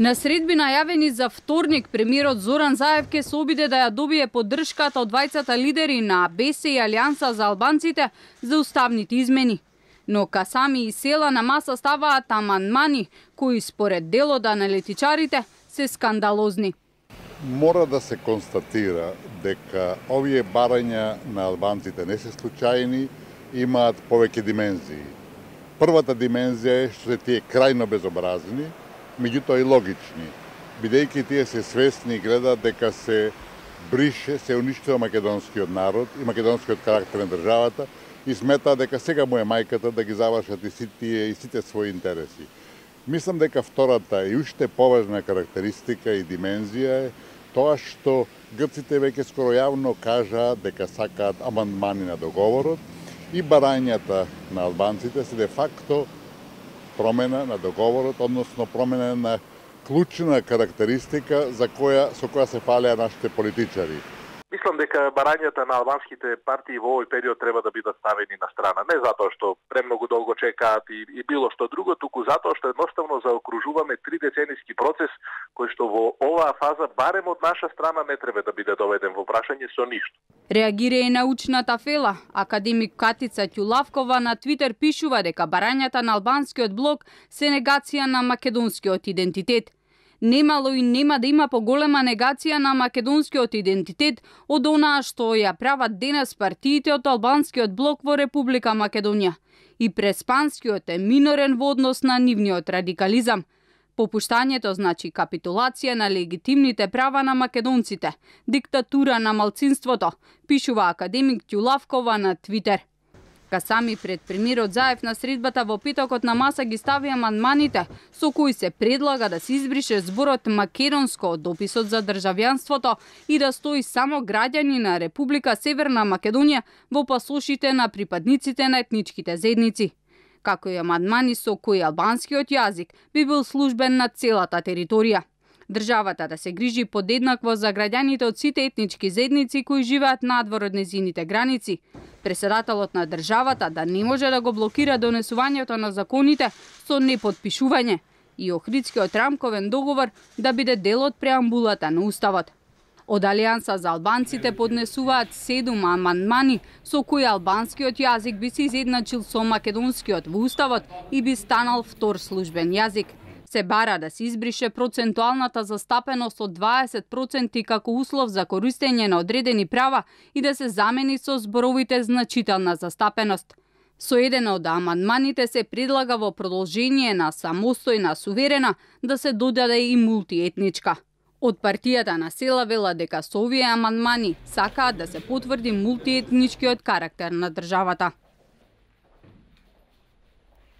На средби најавени за вторник, премиерот Зоран Заев ке се обиде да ја добие поддршката од двајцата лидери на БС и Алијанса за албанците за уставните измени. Но Касами и Села на маса ставаат амандмани кои според дел од аналитичарите се скандалозни. Мора да се констатира дека овие барања на албанците не се случајни, имаат повеќе димензии. Првата димензија е што се тие крајно безобразни, меѓутоа и логични, бидејќи тие се свесни и гледаат дека се брише, се уништува македонскиот народ и македонскиот карактер на државата и сметаат дека сега му е мајката да ги завршат и сите своји интереси. Мислам дека втората и уште поважна карактеристика и димензија е тоа што грците веќе скоро јавно кажаат дека сакаат амандмани на договорот и барањата на албанците се де факто промена на договорот, односно промена на клучна карактеристика со која се фалеа нашите политичари. Мислам дека барањата на албанските партии во овој период треба да бидат ставени на страна. Не затоа што премногу долго чекаат и било што друго, туку затоа што едноставно заокружуваме 3-деценијски процес кој што во оваа фаза барем од наша страна не треба да биде доведен во прашање со ништо. Реагира и научната фела. Академик Катица Ќулавкова на Твитер пишува дека барањата на албанскиот блок се негација на македонскиот идентитет. Немало и нема да има поголема негација на македонскиот идентитет од онаа што ја прават денес партиите од албанскиот блок во Република Македонија. И преспанскиот е минорен во однос на нивниот радикализам. Попуштањето значи капитулација на легитимните права на македонците, диктатура на малцинството, пишува академик Ќулавкова на Твитер. Касами пред премиерот Заев на средбата во петокот на маса ги стави амандманите со кои се предлага да се избрише зборот македонско од дописот за државјанството и да стои само граѓани на Република Северна Македонија во пасошите на припадниците на етничките заедници, како и амандмани со кои албанскиот јазик би бил службен на целата територија. Државата да се грижи подеднакво за граѓаните од сите етнички заедници кои живеат надвор од нејзините граници. Преседателот на државата да не може да го блокира донесувањето на законите со непотпишување и Охридскиот рамковен договор да биде дел од преамбулата на Уставот. Од Алијанса за албанците поднесуваат 7 амандмани со кои албанскиот јазик би се изедначил со македонскиот во Уставот и би станал втор службен јазик. Се бара да се избрише процентуалната застапеност од 20% како услов за користење на одредени права и да се замени со зборовите значителна застапеност. Со еден од амандманите се предлага во продолжение на самостојна суверена да се додаде и мултиетничка. Од партијата на Села вела дека со овие амандмани сакаат да се потврди мултиетничкиот карактер на државата.